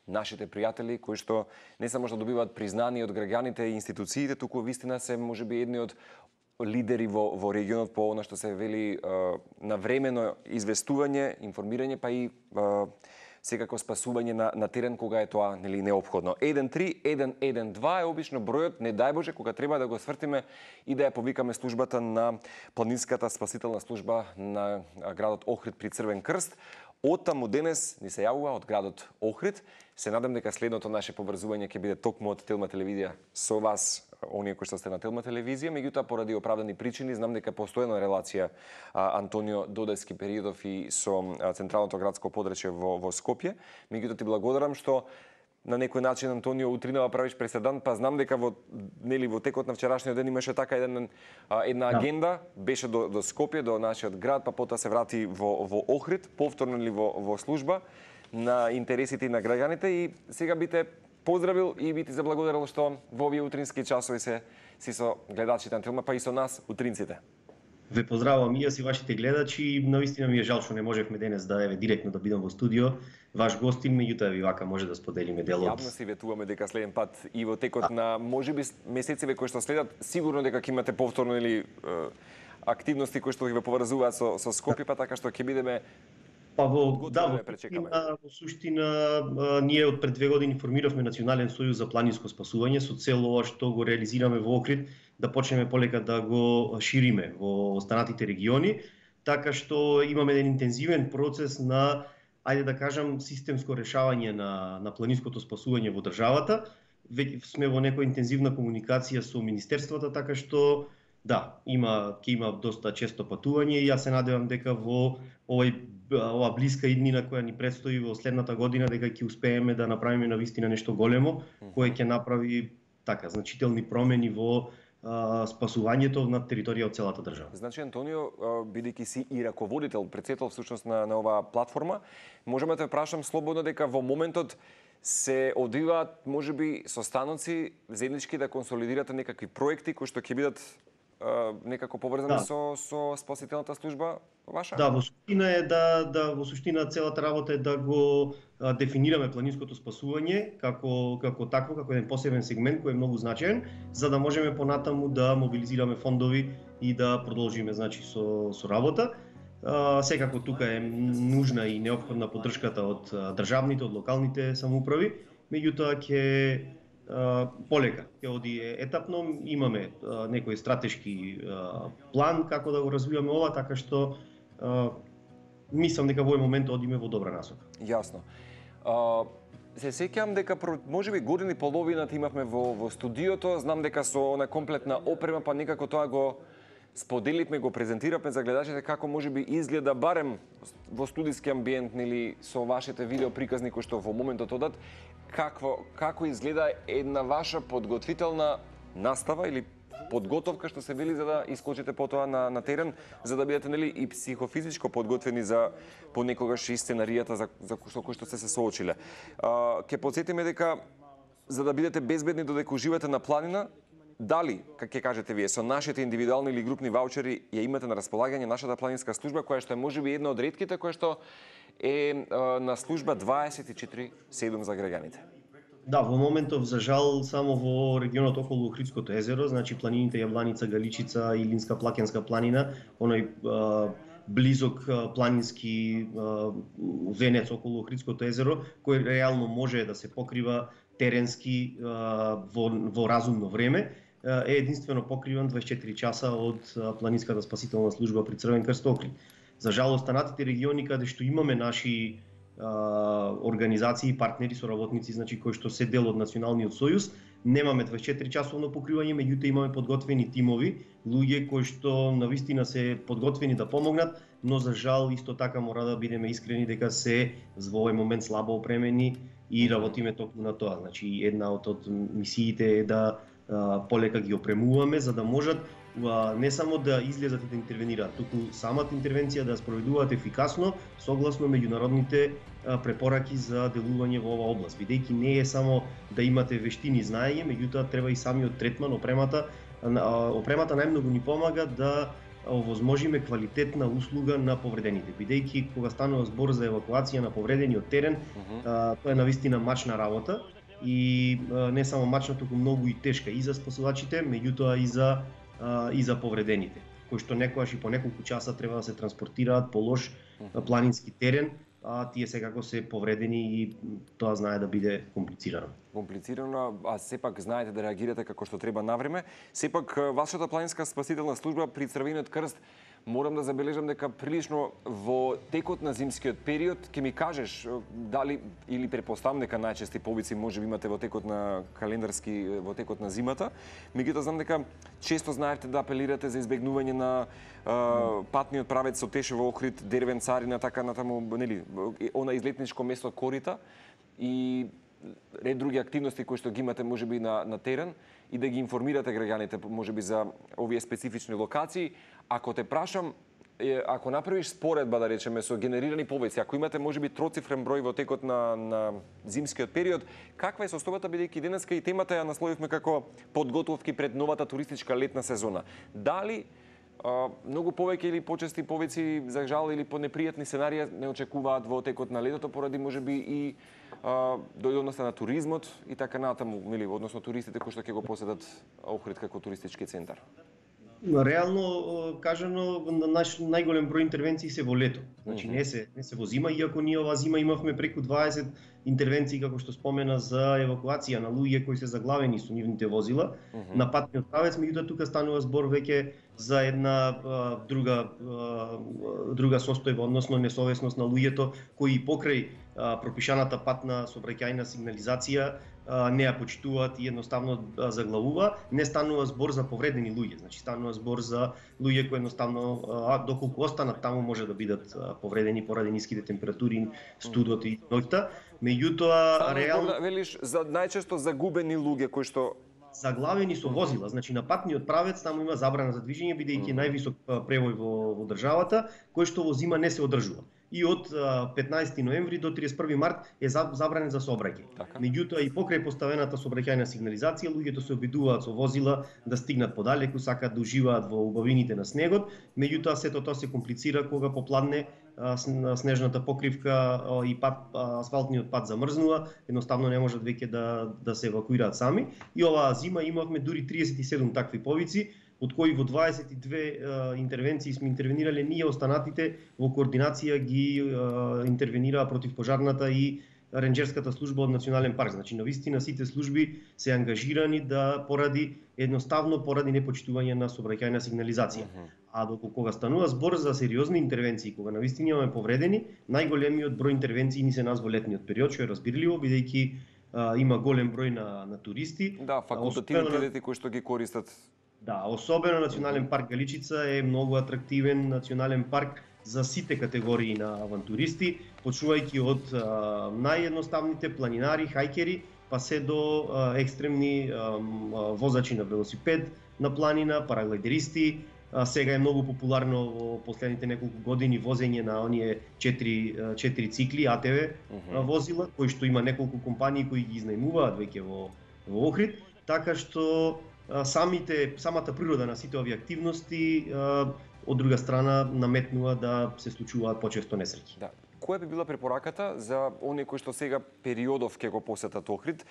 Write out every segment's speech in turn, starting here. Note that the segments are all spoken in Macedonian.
нашите пријатели кои што не само што добиваат признание од граѓаните и институциите, туку вистина се можеби едни од лидери во регионот по она што се вели навремено известување, информирање, па и секако спасување на терен кога е тоа нели неопходно. 13-112 е обично бројот, не дај Боже, кога треба да го свртиме и да ја повикаме службата на планинската спасителна служба на градот Охрид при Црвен крст. Од таму денес ни се јавува од градот Охрид. Се надам дека следното наше поврзување ќе биде токму од Телма телевизија со вас, оние кои што сте на Телма телевизија, меѓутоа поради оправдани причини знам дека постојана релација Антонио Додески периодов и со централното градско подречје во Скопје. Меѓутоа ти благодарам што на некој начин, Антонио, утринава правиш преседан, па знам дека во текот на вчерашниот ден имаше така една агенда, беше до Скопје, до нашиот град, па потоа се врати во Охрид, повторно ли во служба на интересите на граѓаните, и сега би те поздравил и би ти заблагодарил што во овие утрински часови си со гледачите на Телма, па и со нас утринците. Ве поздравувам и јас и вашите гледачи. Навистина ми е жал што не можевме денес да директно да бидам во студио. Ваш гостин, меѓутоа ви вака може да споделиме дел од... Јавно си ветуваме дека следен пат и во текот на можеби месециве кои што следат, сигурно дека ќе имате повторно или активности кои што ги ве поврзуваат со Скопје, па така што ќе бидеме во суштина ние од пред 2 години формиравме Национален сојуз за планинско спасување со цел ова што го реализираме во Охрид да почнеме полека да го шириме во останатите региони, така што имаме еден интензивен процес на, ајде да кажам, системско решавање на планинското спасување во државата. Веќе сме во некоја интензивна комуникација со министерствата, така што да, ќе има доста често патување и јас се надевам дека во ова блиска иднина која ни предстои во следната година дека ќе успееме да направиме навистина нешто големо кое ќе направи така значителни промени во спасувањето на територија од целата држава. Значи, Антонио, бидејќи си и раководител, председател всушност на оваа платформа, можеме да те прашам слободно дека во моментот се одвиваат можеби состаноци заеднички да консолидирате некакви проекти кои што ќе бидат некако поврзани со спасителната служба ваша? Да, во суштина е во суштина целата работа е да го дефинираме планинското спасување како еден посебен сегмент кој е многу значаен, за да можеме понатаму да мобилизираме фондови и да продолжиме значи со работа. Секако тука е нужна и неопходна поддршката од државните, од локалните самоуправи, меѓутоа ќе полека, ќе оди етапно, имаме некој стратешки план како да го развиваме ова, така што мислам дека во овој момент одиме во добра насока. Јасно. Се сеќавам дека можеби година и половина имавме во студиото, знам дека со она комплетна опрема, па некако тоа го споделивме, го презентиравме за гледачите како можеби изгледа барем во студиски амбиент или со вашите видео приказни кои што во моментот одат, како изгледа една ваша подготвителна настава или подготовка што се вели за да искочите потоа на терен, за да бидете нели и психофизичко подготвени за понекогаш и сценаријата за кој што се соочиле. Ќе потсетиме дека за да бидете безбедни додека уживате на планина, дали, како ќе кажете вие, со нашите индивидуални или групни ваучери ја имате на располагање нашата планинска служба, која што е можеби една од ретките која што е на служба 24/7 за граѓаните? Да, во моментов, за жал, само во регионот околу Охридското езеро, значи планините Јабланица, Галичица и Илинска Плакенска планина, оној близок планински венец околу Охридското езеро, кој реално може да се покрива теренски во разумно време, е единствено покриван 24 часа од планинската спасителна служба при Црвен крст Охрид. За жал, останатите региони каде што имаме наши организации и партнери, соработници, значи кои што се дел од Националниот сојуз, немаме 24 часовно покривање, меѓутоа имаме подготвени тимови, луѓе кои што навистина се подготвени да помогнат, но за жал исто така мора да бидеме искрени дека се во овој момент слабо опремени и работиме токму на тоа. Значи една од мисиите е да полека ги опремуваме за да можат не само да излезат и да интервенираат, туку самата интервенција да ја спроведуваат ефикасно согласно меѓународните препораки за делување во оваа област. Бидејќи не е само да имате вештини и знаење, меѓутоа треба и самиот третман, опремата најмногу ни помага да овозможиме квалитетна услуга на повредените, бидејќи кога станува збор за евакуација на повредени од терен, тоа е навистина мачна работа и не само мачна, туку многу и тешка и за спасувачите, меѓутоа и за повредените, кои што некогаш и по неколку часа треба да се транспортираат по лош планински терен, а тие секако се повредени и тоа знае да биде комплицирано. Комплицирано, а сепак знаете да реагирате како што треба навреме. Сепак вашата планинска спасителна служба при Црвениот крст, морам да забележам дека прилично во текот на зимскиот период, ќе ми кажеш дали или претпоставам дека најчести повици можеби имате во текот на во текот на зимата, меѓутоа знам дека често знаете да апелирате за избегнување на патниот правец со Тешево, Охрид, Дервен, Царина, така натаму, нели, она излетничко место Корита и ред други активности кои што ги имате можеби на терен и да ги информирате граѓаните можеби за овие специфични локации. Ако те прашам, ако направиш споредба, да речеме, со генерирани повици, ако имате можеби троцифрен број во текот на зимскиот период, каква е состојбата, бидејќи денеска и темата ја насловивме како подготовки пред новата туристичка летна сезона? Дали многу повеќе или почести повици за жал или по непријатни сценарија не очекуваат во текот на летото поради можеби и дојдоноста на туризмот и така натаму, односно туристите кои што ќе го посетат Охрид како туристички центар? Реално кажано, најголем број интервенции се во лето. Значи не се во зима, иако ние оваа зима имавме преку 20 интервенции, како што спомена, за евакуација на луѓе кои се заглавени со нивните возила на патниот правец, меѓутоа тука станува збор веќе за една друга состојба, односно несовесност на луѓето кои покрај пропишаната патна сообраќајна сигнализација не ја почитуваат и едноставно заглавува. Не станува збор за повредени луѓе, значи станува збор за луѓе кои едноставно доколку останат таму може да бидат повредени поради ниските температури, студот и ноќта. Меѓутоа реално велиш за најчесто загубени луѓе кои што заглавени со возила, значи на патниот правец таму има забрана за движење бидејќи највисок превој во државата, кој што во зима не се одржува. И од 15 ноември до 31 март е забранен за сообраќај. Меѓутоа и покрај поставената сообраќајна сигнализација, луѓето се обидуваат со возила да стигнат подалеку, сакаат да уживаат во убавините на снегот, меѓутоа сето тоа се комплицира кога попладне снежната покривка и асфалтниот пат замрзнува, едноставно не можат веќе да се евакуираат сами. И оваа зима имавме дури 37 такви повици, од кои во 22 интервенции сме интервенирале ние, останатите во координација ги интервенираа противпожарната и ренџерската служба од Национален парк. Значи навистина сите служби се ангажирани поради непочитување на сообраќајна сигнализација. А доколку кога станува збор за сериозни интервенции, кога навистина имаме повредени, најголемиот број интервенции ни се нас во летниот период, што е разбирливо бидејќи има голем број на туристи. Да, факултативните кои што ги користат. Да, особено Национален парк Галичица е многу атрактивен национален парк за сите категории на авантуристи, почнувајќи од наједноставните планинари, хајкери, па се до екстремни возачи на велосипед на планина, параглайдеристи. Сега е многу популарно во последните неколку години возење на оние 4 цикли АТВ возила, кои што има неколку компании кои ги изнајмуваат веќе во Охрид, така што самата природа на сите овие активности од друга страна наметнува да се случуваат почесто несреќи. Да. Која би била препораката за оние кои што сега периодов ќе го посетат Охрид,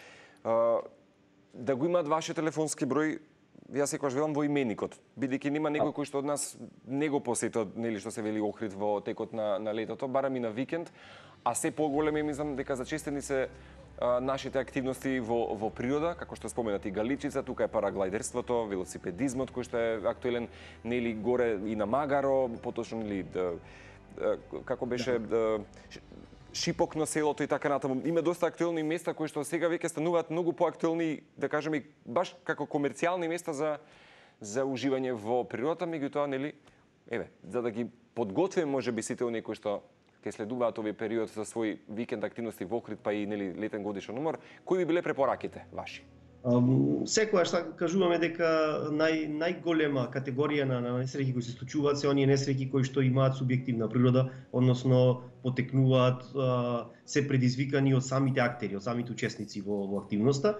да го имаат вашиот телефонски број? Јас секогаш велам во именикот, бидејќи нема некој кој што од нас не го посетил, нели што се вели Охрид во текот на летото, барем и на викенд, а се поголеме мислам дека зачестени се нашите активности во природа, како што споменати Галичица, тука е параглайдерството, велосипедизмот кој што е актуелен, нели горе и на Магаро, поточно нели како беше Шипок на селото и така натаму. Има доста актуелни места кои што сега веќе стануваат многу поактуелни, да кажеме, баш како комерцијални места за уживање во природата, меѓутоа нели, за да ги подготвиме можеби сите оние кои што ќе следуваат овој период за свој викенд активности во Охрид, па и нели летен годишен умор, кои би биле препораките ваши? Секогаш кажуваме дека најголема категорија на несреќи кои се случуваат се оние несреќи кои што имаат субјективна природа, односно потекнуваат, се предизвикани од самите актери, од самите учесници во активноста.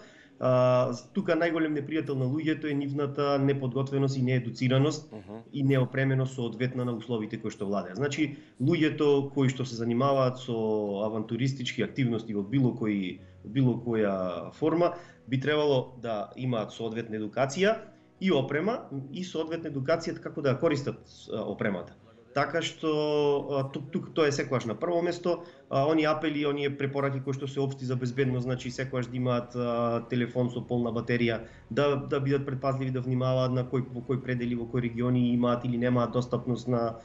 Тука најголем непријател на луѓето е нивната неподготвеност и неедуцираност и неопременост соодветна на условите кои што владеат. Значи, луѓето кои што се занимаваат со авантуристички активности во било која форма би требало да имаат соодветна едукација и опрема и соодветна едукација како да ја користат опремата. Така што тук тоа е секогаш на прво место, оние апели, оние препораки кои што се општи за безбедност, значи секогаш да имаат телефон со полна батерија, да бидат предпазливи, да внимаваат на кој предели, во кои региони имаат или немаат достапност на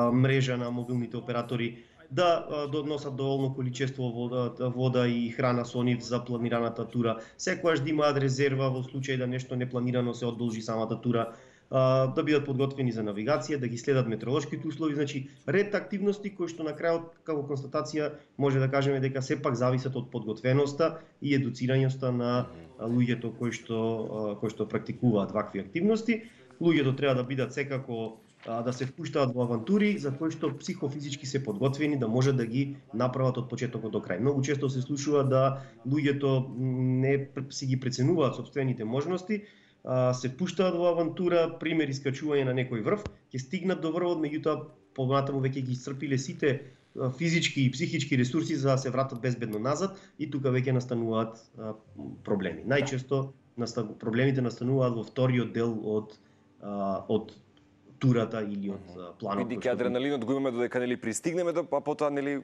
мрежа на мобилните оператори, да носат доволно количество вода и храна со нив за планираната тура, секогаш да имаат резерва во случај да нешто непланирано се одолжи самата тура, да бидат подготвени за навигација, да ги следат метеоролошките услови, значи ред активности кои што на крајот како констатација може да кажеме дека сепак зависат од подготвеноста и едуцирањето на луѓето кои што практикуваат вакви активности. Луѓето треба да бидат секако да се впуштаат во авантури за кои што психофизички се подготвени да може да ги направат од почетокот до крај. Многу често се слушува да луѓето не си ги преценуваат сопствените можности, се пуштаат во авантура, пример искачување на некој врв, ќе стигнат до врвот, меѓутоа понатаму веќе ги исцрпиле сите физички и психички ресурси за да се вратат безбедно назад и тука веќе настануваат проблеми. Најчесто проблемите настануваат во вториот дел од турата или од планот. Бидејќи адреналинот го имаме додека нели пристигнеме, а потоа нели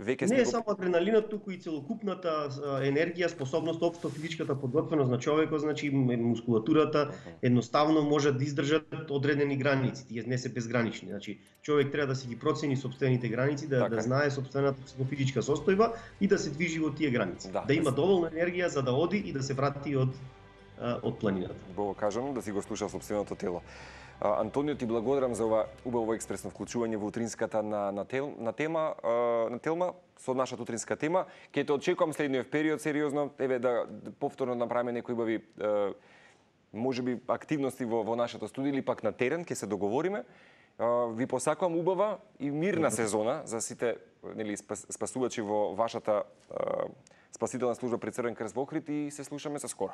веќе не е само адреналинот, туку и целокупната енергија, способност, општо физичката подготвеност на човекот, значи мускулатурата едноставно може да издржат одредени граници, тие не се безгранични. Значи човек треба да си ги процени сопствените граници, да знае сопствената психофизичка состојба и да се движи во тие граници. Да има доволно енергија за да оди и да се врати од планината. Бого кажано, да си го слуша сопственото тело. Антонио, ти благодарам за ова убаво експресно вклучување во утринската на Телма, со нашата утринска тема. Ке те очекувам следниот период сериозно, еве да повторно направиме некои убави можеби активности во нашето студио или пак на терен, ке се договориме. Ви посакувам убава и мирна сезона за сите нели спасувачи во вашата спасителна служба при Црвен крст во Охрид и се слушаме со скоро.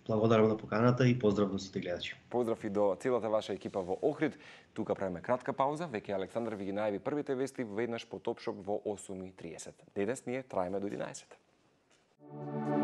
Благодарам на поканата и поздрав до сите гледачи. Поздрав и до целата ваша екипа во Охрид. Тука правиме кратка пауза, веќе Александар ви ги најави првите вести веднаш по Топшоп во 8:30. Денес ние траеме до 11.